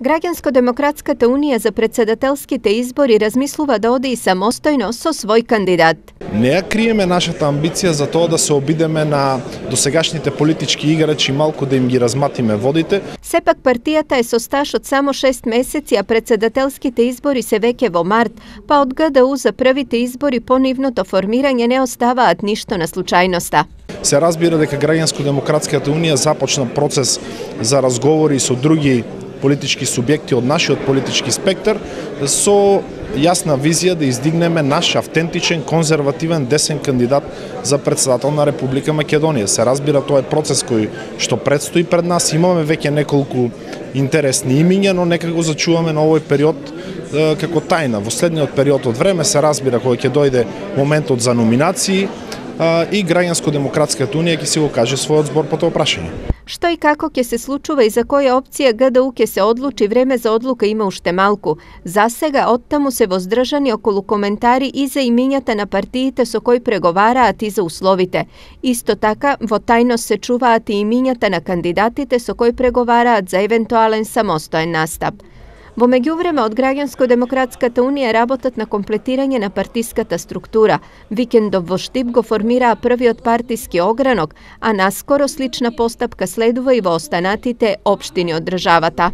Граѓанско-демократската унија за председателските избори размислува да оде и самостојно со свој кандидат. Не ја криеме нашата амбиција за тоа да се обидеме на досегашните политички играчи малку да им ги разматиме водите. Сепак партијата е со стаж од само 6 месеци, а председателските избори се веќе во март, па од ГДУ за првите избори по нивното формирање не оставаат ништо на случајноста. Се разбира дека Граѓанско-демократската унија започна процес за разговори со други политички субјекти од нашиот политички спектар со јасна визија да издигнеме наш автентичен, конзервативен, десен кандидат за председател на Република Македонија. Се разбира, тоа е процес кој што предстои пред нас. Имаме веќе неколку интересни имиња, но нека го зачуваме на овој период како тајна. Во следниот период од време се разбира кога ќе дојде моментот за номинации и Граѓанско-демократската унија ќе си го каже својот збор по тоа прашање. Што и како ќе се случува и за која опција ГДУ ќе се одлучи, време за одлука има уште малку. За сега оттаму се воздржани околу коментари и за имињата на партиите со кои преговараат и за условите. Исто така, во тајност се чуваат и имињата на кандидатите со кои преговараат за евентуален самостоен настап. Во меѓувреме од Граѓанско-демократската унија работат на комплетирање на партиската структура. Викендов во Штип го формираа првиот партиски огранок, а наскоро слична постапка следува и во останатите општини од државата.